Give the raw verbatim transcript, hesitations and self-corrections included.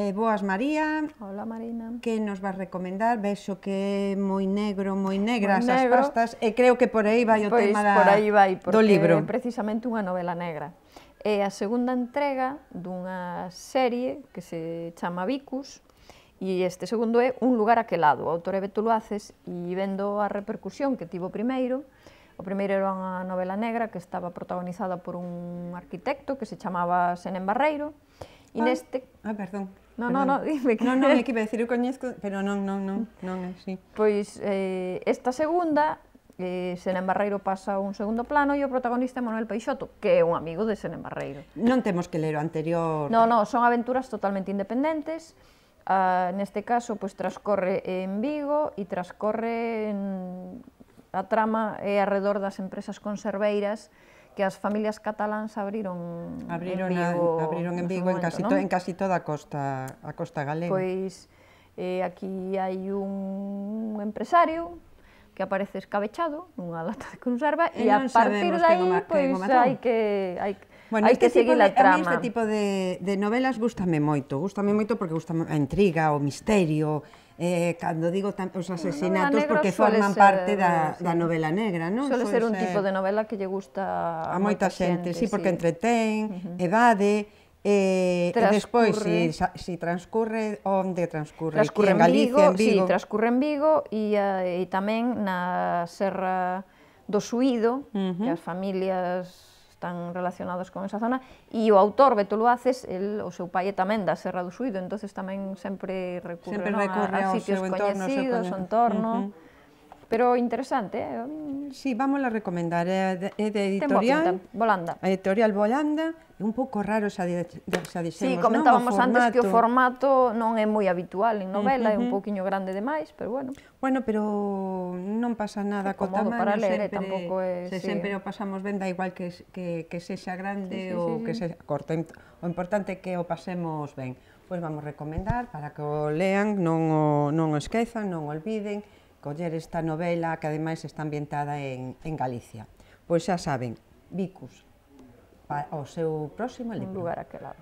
Eh, boas, María. Hola, Marina. Que nos vas recomendar? Vexo que é moi negro, moi negras moi as negro. pastas, e creo que por aí vai o pois tema da, por aí vai, do libro. Porque é precisamente unha novela negra. É a segunda entrega dunha serie que se chama Vicus, e este segundo é Un lugar aquelado. O autor é Beto Luaces, e vendo a repercusión que tivo o primeiro, o primeiro era unha novela negra que estaba protagonizada por un arquitecto que se chamaba Senén Barreiro, e ah, neste... Ah, perdón. No, perdón. no, no, dime que... Non, non, é que iba a decir, eu coñezco, pero non, non, non, non é así. Pois eh, esta segunda, eh, Senén Barreiro pasa a un segundo plano e o protagonista é Manuel Peixoto, que é un amigo de Senén Barreiro. Non temos que ler o anterior. No, no, son aventuras totalmente independentes. Uh, neste caso, pois, transcorre en Vigo e transcorre en... a trama é alrededor das empresas conserveiras que as familias cataláns abriron, abriron en Vigo, a, abriron en Vigo, momento, en, casi ¿no? to, en casi toda a costa, a costa galega. Pois eh, aquí hai un empresario que aparece escabechado nunha lata de conserva e, e a partir de aí, pois, hai que hai, bueno, hai este que seguir a trama. A mí este tipo de, de novelas gústame moito, gústame moito porque gústame a intriga, o misterio, eh, cando digo tam, os asesinatos, porque forman ser, parte da, sí. da novela negra, non? Suele ser un tipo de novela que lle gusta a moita xente, sí, porque sí. entretén, uh -huh. evade, eh, e despois, si, si transcurre, onde transcurre? Transcurre en Galicia, Vigo, en Vigo? Sí, transcurre en Vigo e, e tamén na Serra do Suído, uh -huh. que as familias están relacionados con esa zona, e o autor, Beto Luaces, el, o seu pai é tamén da Serra do Suído, entonces tamén sempre recurre, sempre non, recurre a, a sitios coñecidos, o entorno, uh -huh. pero interesante, eh? Sí, vamos a recomendar, é de, é de editorial, Volanda. A editorial Volanda, é un pouco raro xa, de, xa dixemos, sí, comentábamos non? antes que o formato non é moi habitual en novela, uh -huh. é un pouquiño grande demais, pero bueno. Bueno, pero non pasa nada co tamaño, para ler, sempre, tampouco é, se sí. sempre o pasamos ben, da igual que, que, que sexa grande sí, sí, ou sí, que sí. sexa corto, o importante é que o pasemos ben. Pois vamos recomendar para que o lean, non o, non o esquezan, non o olviden, coller esta novela que ademais está ambientada en, en Galicia. Pois xa saben, Vicus, o seu próximo libro. Un lugar aquelado.